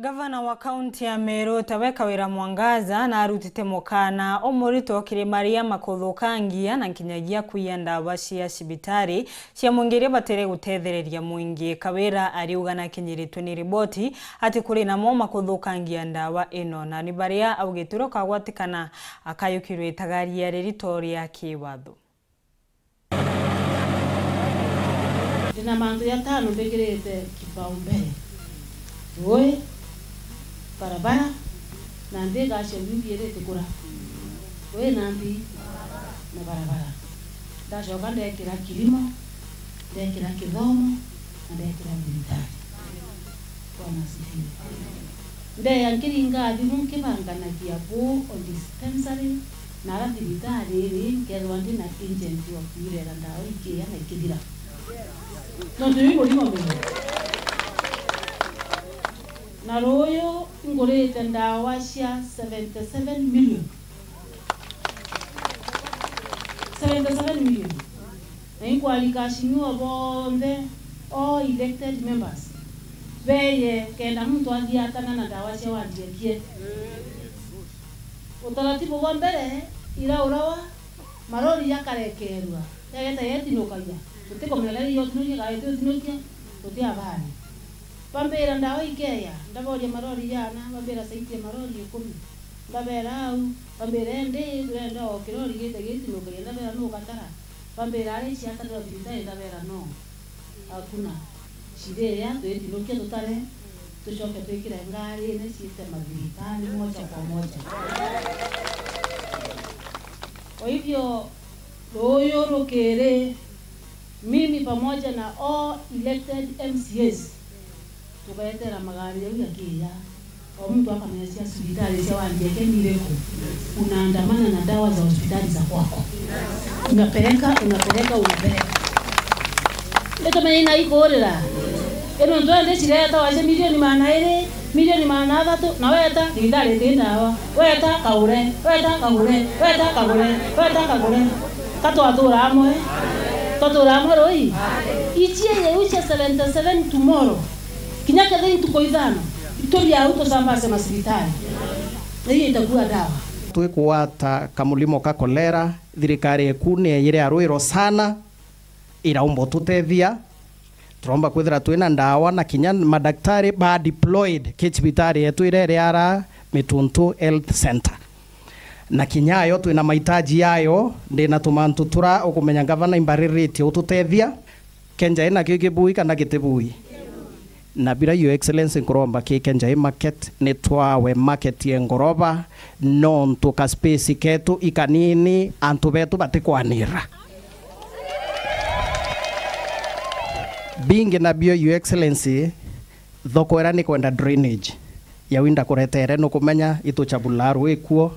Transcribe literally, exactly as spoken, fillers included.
Gavana wa kaunti ya Meru, tawe Kawira Mwangaza, narutite mukana umuritwo kiri maria makuthukangia na nkinyagia kwiya ndawa cia cibitari cia mwingi iria batire gutethereria mwingi. Kawira ariuga nakinyiritwe ni riboti ati kuri namo makuthukangia ndawa ino, na ni baria augitwe rukagwatikana akayukirwe itagaria ririto ria kiwatho. Ndina mantu jatano mbikirite kipaumbele: rui, barabara, na nthi igacio biu biiri itikura. Rui na nthi na barabara. Ndacoka ndekira kilimo, ndekira kithomo, na ndekira thibitari. Bwana asifiwe. Ndeya nkiringa thimu nkibanganagia buu o dispensary na ara thibitari iri, nkethirwa ndi na agent wa kwirera ndawa ikiya na ikithira. Nontu iu murimo mega. Na ruuyu ngurite ndawa cia seventy seven million. Seventy seven million. Na inkwari cashiwa bonthe, all elected members, beye kenda muntu athiatana na ndawa cia wandi ekie. Utaratibu bwa mbere iraurawa, marori jakarekerua, yageta yetinukagia, tutikumenya kari yotinokia kana itutinukia, tutiabani. Bambira ndawa ikeya, ndaboria marori jana, bambira saitie marori ikumi. Ndabera au, bambira indi turenda o kirori gite gitinukagia, ndabera nu gatara. Bambira ari ciatanirwa thibitari, ndabera no. Hakuna. Ciria twitinukia tutare, tucoke twikire ngarine ciite mathibitari moja kwa moja. Kwa hivyo, ruuyu rukiri, mimi pamoja na all elected M C As, tukaetera magari jau jakiya. O muntu akamenya cia cibitari cia wandi eke ni iriku. Unaandamana na dawa za hospitali za kwako. Unapeleka, unapeleka, unapeleka. Itumenye ina ikurira. Ino ntwende cireta waje milioni magana iri, milioni magana athatu, na weta thibitari iti ndawa. Weta kagure, weta kagure, weta kagure, weta kagure. Ka twatura amwe? Twatura amwe rui? Ichie yeu cia seventy seven tomorrow. Kinya kethira ntuku ithano, ituri au tusambaze macibitari. Iyo itakua dawa. Twikugwata kamulimo ka kolera, thirikari eku ni yeyire arwiro sana, iraumba ututethia. Turomba kwithira twina ndawa na kinya madaktari ba deployed ki cibitari yetu iria iri ara Mituntu Health Center. Na kinya ayo twina mahitaji yayo, ndina tumantu tura ukumenya ngavana imbariritie ututethia. Kenja ina kio kibui kana gitibui? Na bira, Your Excellency, nkuromba ki Kenja i market, ni twawe market ye ngoroba, nontu ka space ketu i kanini, antu betu batikwanira. Bingi nabio, Your Excellency, thoko ira ni kwenda drainage. Yau indakuretere, nukumenya ituchabula rui kuo.